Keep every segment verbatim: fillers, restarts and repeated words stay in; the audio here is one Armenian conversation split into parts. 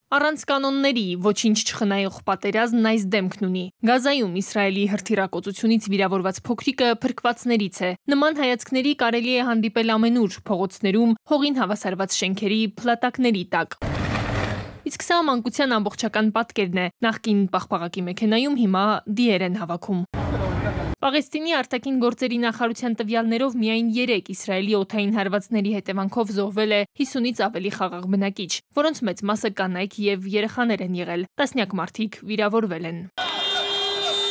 Առանց կանոնների ոչինչ չխնայող պատերազմն այս դեմքն ունի։ Գազայում Իսրայելի հրթիռակոծությունից վիրավորված փոքրիկը փրկվածներից է։ Նման հայացքների կարելի է հանդիպել ամենուր՝ փողոցներում, հողին հավասարված շենքերի փլատակների տակ։ Իսկ սա մանկության ամբողջական պատկերն է։ Նախկին պաղպաղակի մեքենայում հիմա դիեր են հավաքում։ Պաղեստինի արտաքին գործերի նախարարության տվյալներով միայն երեք Իսրայելի օդային հարվածների հետևանքով զոհվել է հիսունից ավելի խաղաղ բնակիչ, որոնց մեծ մասը կանայք եւ երեխաներ են եղել։ Տասնյակ մարդիկ վիրավորվել են։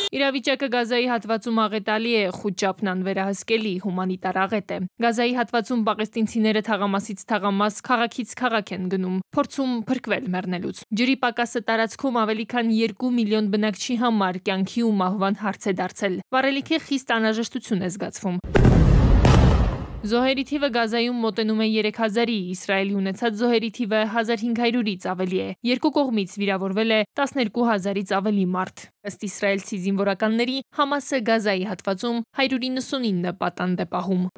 Իրավիճակը Գազայի հատվածում աղետալի է, Խուջապն անվերահսկելի հումանիտար աղետ է։ Գազայի հատվածում պաղեստինցիները թաղամասից թաղամաս, քաղաքից քաղաք են գնում, փորձում փրկվել մեռնելուց։ Ջրի պակասը տարածքում ավելի քան երկու միլիոն բնակչի համար կյանքի ու մահվան հարց է դարձել։ Վառելիքի խիստ անհրաժեշտություն է զգացվում։ Զոհերի թիվը Գազայում մոտենում է երեք հազարի, Իսրայելի ունեցած զոհերի թիվը հազար հինգ հարյուրից ավելի է։ Երկու կողմից վիրավորվել է տասներկու հազարից ավելի մարդ։ Ըստ իսրայելցի զինվորականների, Համասը Գազայի հատվածում հարյուր իննսունինը պատանդ է պահում։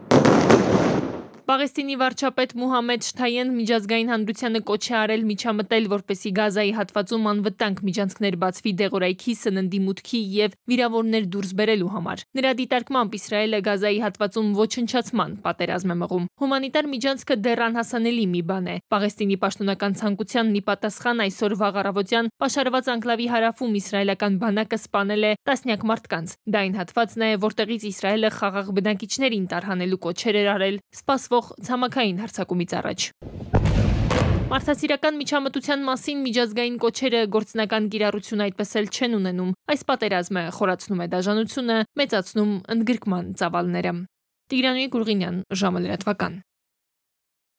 Պաղեստինի վարչապետ Մուհամմեդ Շթայեն միջազգային հանրությանը կոչ է արել միջամտել, որպեսզի Գազայի հատվածում անվտանգ միջանցքներ բացվի դեղորայքի, սննդի մուտքի եւ վիրավորներ դուրս բերելու համար։ Նրա դիտարկմամբ Իսրայելը Գազայի հատվածում ոչնչացման պատերազմ է մղում։ Հումանիտար միջանցքը դեռ անհասանելի մի բան է։ Պաղեստինի պաշտոնական ցանկությանն ի պատասխան այսօր վաղ առավոտյան պաշարված անկլավի հարավում իսրայելական բանակը սպանել է տասնյակ մարդկանց։ Դա այն հատվածն է, որտեղից Իսրայելը խաղաղ բնակիչներին տարհանելու կոչեր էր արել սպասվող ցամաքային հարձակումից առաջ։ Մարդասիրական միջամտության մասին միջազգային կոչերը գործնական կիրառություն այդպես էլ չեն ունենում։ Այս պատերազմը խորացնում է դաժանությունը, մեծացնում ընդգրկման ծավալները։ Տիգրան Գուրգինյան, ժամը լրատվական։